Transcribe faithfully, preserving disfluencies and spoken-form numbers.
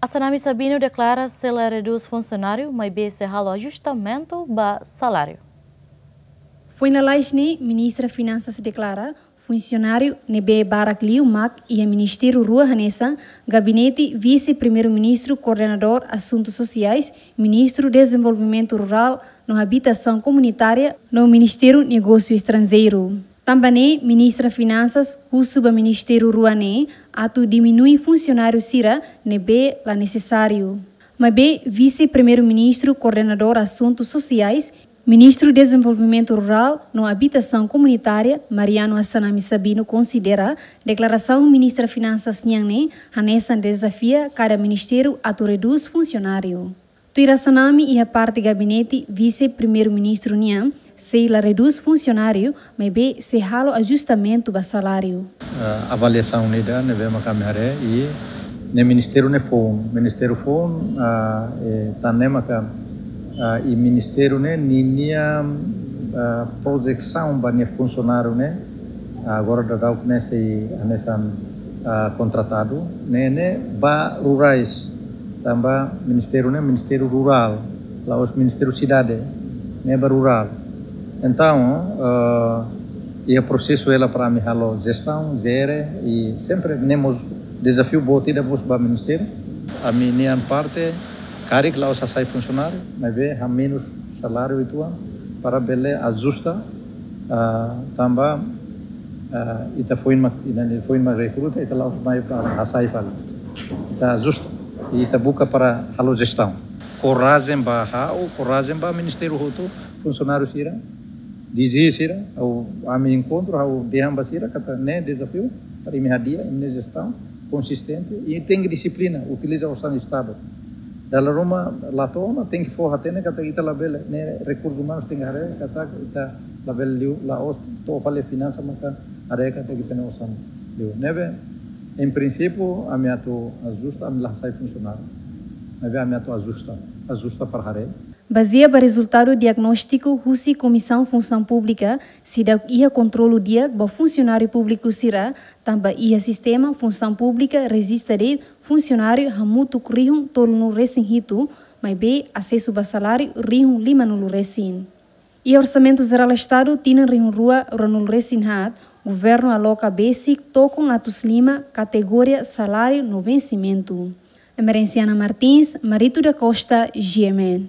Assanami Sabino deklara sei la redús funsionáriu, maibé sei halo ajustamentu ba saláriu. Foin lalais ne'e, Ministra Finansas deklara funsionáriu ne'ebé barak liu mak iha ministériu rua hanesan Gabinete Vise-Primeiru-Ministru Koordenadór Asuntu Sosiais, Ministru Dezenvolvimentu Rurál no Abitasaun Komunitária no Ministériu Negósiu Estranjeiru. Tanba ne'e, Ministra Finansas husu ba ministériu rua ne'e atu diminui funsionáriu sira ne'ebé la nesesáriu. Maibé Vise-Primeiru-Ministru Koordenadór Asuntu Sosiais, Ministru Dezenvolvimentu Rurál no Abitasaun Komunitária, Mariano Assanami Sabino konsidera deklarasaun Ministra Finansas nian ne'e hanesan dezafia kada ministériu atu redús funsionáriu. Tuir Assanami, iha parte gabinete Vise-Primeiru-Ministru nian sei la redús funsionáriu, maibé sei halo ajustamentu ba saláriu. Ah, avaliasaun ida ne'ebé mak ami haree, i ne'e ministériu ne'e foun, ministériu foun, ah, eh, tan ne'e maka, ah, i ministériu ne'e ninia, ah, projesaun ba nia funsionáriu ne'e, ah, agora daudauk ne'e sei hanesan, ah, kontratadu, ne'e, ne'e ba rurais, tanba ministériu ne'e ministériu rurál, la'ós ministériu sidade, ne'e ba rurál. Entaun, ah, iha prosesu hela para ami halo jestaun, jere, i sempre ne'e mós dezafiu boot ida mós ba ministériu. Ami-nian parte, karik la'ós hasai funsionáriu, maibé hamenus saláriu uitoan para bele ajusta, ah, tanba, ah, ita foin mak, ita ne'e foin mak rekruta, ita la'ós mai para hasai fali. Ita ajusta, i ita buka para halo jestaun. Korajen ba ha'u, korajen ba ministériu hotu, funsionáriu sira, D G sira, ha'u, ami enkontru, ha'u dehan ba sira katak ne'e dezafiu para imi hadi'a, imi-nia jestaun konsistente, i tenke dixiplina, utiliza osan Estadu. Dala ruma la to'o ona, tenke fó hatene katak ita labele, ne'e rekursus umanus tenke haree katak ita labele liu, la'ós to'o fali finansa maka haree katak ita-nia osan liu. Ne'ebé, em princípio, ami atu ajusta, ami la hasai funsionáriu. Ne'ebé ami atu ajusta, ajusta para haree. Bazeia ba rezultadu diagnóstiku husi Komisaun Funsaun Públika, seidauk iha kontrolu di'ak ba funsionáriu públiku sira, tanba iha sistema funsaun públika rejista de'it funsionáriu hamutuk rihun tolunulu resin hitu, maibé asesu ba saláriu rihun limanulu resin. Iha Orsamentu Jerál Estadu tinan rihun rua ruanulu resin haat, governu aloka besik tokon atus lima kategoria saláriu no vensimentu. Emerenciana Martins, Marito da Costa, G M N.